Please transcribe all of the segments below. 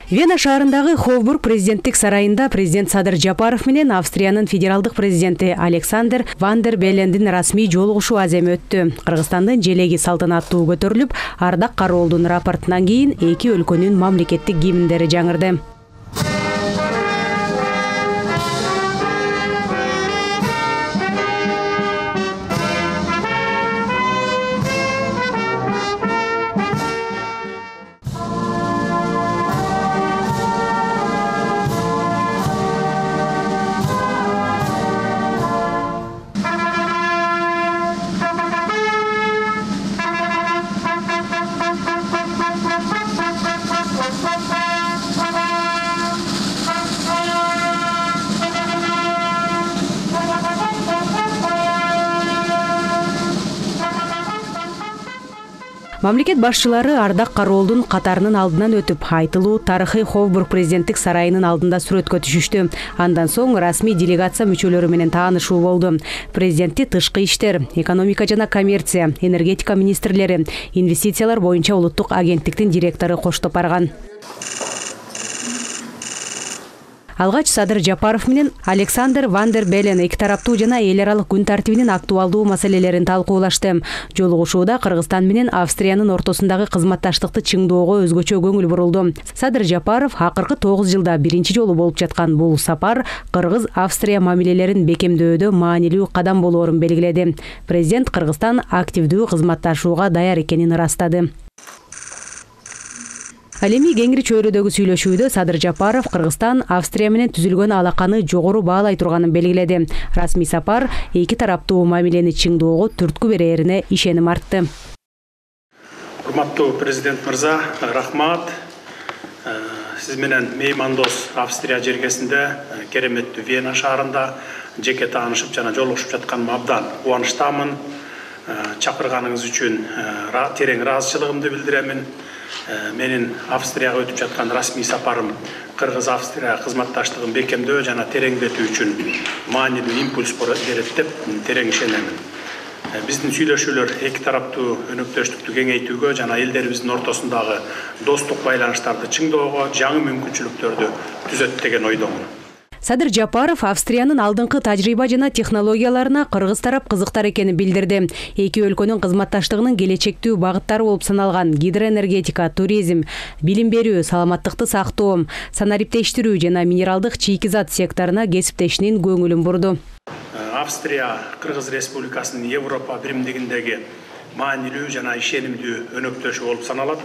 Вена шаарындагы Ховбург президенттик сарайында президент Садыр Жапаров менен Австриянын федералдык президенти Александр ван дер Беллендин расмий жолугушуу аземи өттү. Кыргызстандын желеги салтанаттуу көтөрүлүп, Ардак Кароолдун рапортунан кийин эки өлкөнүн мамлекеттик гимндери жаңырды. Мамлекет башчылары Ардак Кароолдун катарынын алдынан өтүп, айтылуу тарыхый Ховбург президенттик сарайынын алдында сүрөткө түшүштү. Андан соң расмий делегация мүчөлөрү менен таанышуу болду. Президенти тышкы иштер, экономика жана коммерция, энергетика министрлери, инвестициялар боюнча улуттук агенттиктин директору коштоп барган. Алгач Садыр Жапаров менен Александр ван дер Беллен эки тараптуу жана эл аралык күн тартибинин актуалдуу маселелерин талкуулашты. Жолугушууда Кыргызстан менен Австриянын ортосундагы кызматташтыкты чыңдоого өзгөчө көңүл бурулду. Садыр Жапаров акыркы 9 жылда биринчи жолу болуп жаткан бул сапар Кыргыз-Австрия мамилелерин бекемдөөдө маанилүү кадам болоорун белгиледи. Президент Кыргызстан активдүү кызматташууга даяр экенин ырастады. Ал эми кеңири чөйрөдөгү сүйлөшүүдө Садыр Жапаров Кыргызстан Австрия менен түзүлгөн алаканы жогору баалай турганын белгиледи. Расмий сапар эки тараптуу мамилени чыңдоого түрткү берээрине ишеним артты. Урматтуу президент мырза, рахмат. Сиз менен меймандос Австрия жергесинде кереметтүү Вена шаарында жеке таанышып жана жолугушуп жатканыма абдан кубанычтамын. Чакырганыңыз үчүн терең ыраазычылыгымды билдиремин. Менин Австрияга өтүп жаткан расмий сапарым Кыргыз-Австрия кызматташтыгын бекемдөө жана тереңдетүү үчүн маанилүү импульс берет деп терең ишенемин. Биздин сүйлөшүүлөр эки тараптуу өнөктөштүктү кеңейтүүгө жана элдерибиздин ортосундагы достук байланыштарды чыңдоого жаңы мүмкүнчүлүктөрдү түзөт деген ойдомун. Садыр Жапаров Австриянын алдыңкы тажрыйба жана технологияларына кыргыз тарап кызыктар экенин билдирди. Эки өлкөнүн кызматташтыгынын келечектүү багыттары болуп саналган гидроэнергетика, туризм, билим берүү, саламаттыкты сактоо, санариптештирүү жана минералдык чийки зат секторуна кесиптешинин көңүлүн бурду. Австрия Кыргыз Республикасынын Европа биримдигиндеги маанилүү жана ишенимдүү өнөктөшү болуп саналат.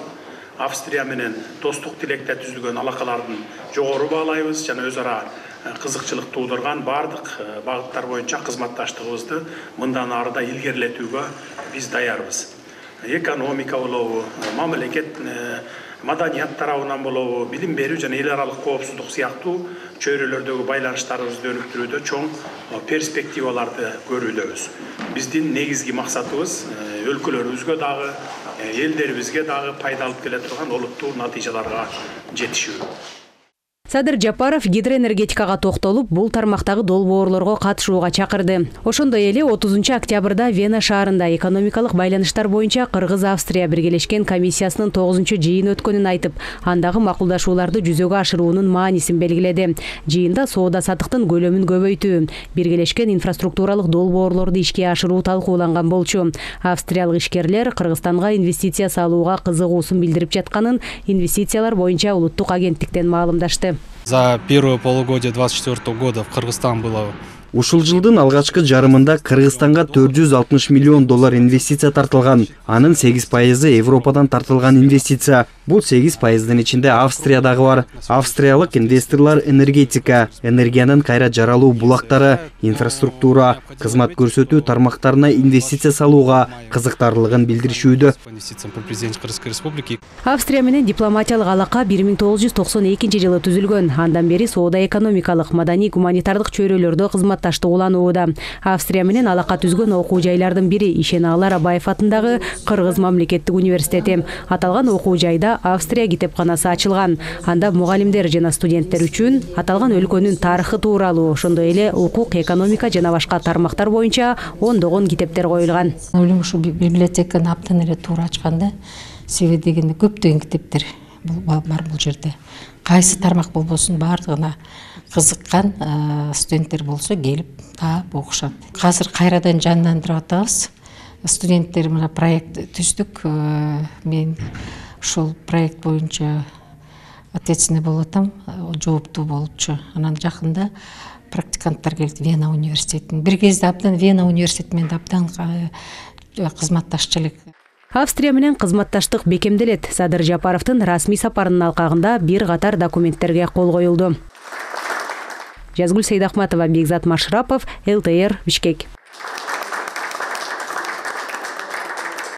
Австрия менен достук тилекте түзүлгөн алакалардын жогору баалайбыз жана өз ара кызыкчылык туудурган бардык багыттар боюнча кызматташтыгыбызды мындан ары да илгерилетүүгө биз даярбыз. Экономика болобу, мамлекет маданият тарабынан болобу, билим берүү жана эл аралык коопсуздук сыяктуу чөйрөлөрдөгү байланыштарыбызды өнүктүрүүдө чоң перспективаларды көрүүдөбүз. Биздин негизги максатыбыз өлкөлөрүбүзгө дагы, элдерибизге дагы пайда алып келе турган олуттуу натыйжаларга жетишүү. Садыр Жапаров гидроэнергетикага токтолуп, бул тармактагы долбоорлорго катышууга чакырды. Ошондой эле 30 октябрда Вена шаарында экономикалык байланыштар боюнча Кыргыз-Австрия биргелешкен комиссиясынын 9-жыйыны өткөнүн айтып, андагы макулдашууларды жүзөгө ашыруунун маанисин белгиледи. Жыйында соода-саттыктын көлөмүн көбөйтүү, биргелешкен инфраструктуралык долбоорлорду ишке ашыруу талкууланган болчу. Австриялык ишкерлер Кыргызстанга инвестиция салууга кызыгуусун билдирип жатканын инвестициялар боюнча улуттук агенттиктен маалымдашты. За первое полугодие 2024 года в Кыргызстан было. Ушул жылдын алгачкы жарымында Кыргызстанга 460 миллион доллар инвестиция тартылган. Анын 8% Европадан тартылган инвестиция. Бул 8%дын ичинде Австрия дагы бар. Австриялык инвесторлор энергетика, энергиянын кайра жаралуу булактары, инфраструктура, кызмат көрсөтүү тармактарына инвестиция салууга кызыктарлыгын билдиришүүдө. Австрия менен дипломатиялык алака 1992 жылы түзүлгөн. Андан бери соода-экономикалык, маданий-гуманитардык чөйрөлөрдө кызматташтыгууланууда. Австрия менен алака түзгөн окуу жайлардын бири Ишеналар Абаев атындагы Кыргыз мамлекеттик университети. Аталган окуу жайда Австрия китепканасы ачылган. Анда мугалимдер жана студенттер үчүн аталган өлкөнүн тарыхы тууралуу, ошондой эле укук, экономика жана башка тармактар боюнча ондогон китептер коюлган. Ойлойм, ушу библиотеканы абдан эле туура ачканда, себеби дегенде көптөгөн китептер бар бул жерде. Кайсы тармак болбосун баардыгына кызыккан студенттер болсо келип таап окушат. Азыр кайрадан жандандырып атабыз. Студенттер мына проект түздүк. Мен ошол проект боюнча ответственный болуп атам, жооптуу болчу. Анан жакында практиканттар келди Вена университетинин. Бир кезде абдан Вена университети менен абдан кызматташчу элек. Австрия менен кызматташтык бекемделет. Садыр Жапаровдун расмий сапарынын алкагында бир катар документтерге кол коюлду. Жазгүл Сейдахматова, Бекзат Машрапов, ЛТР, Бишкек.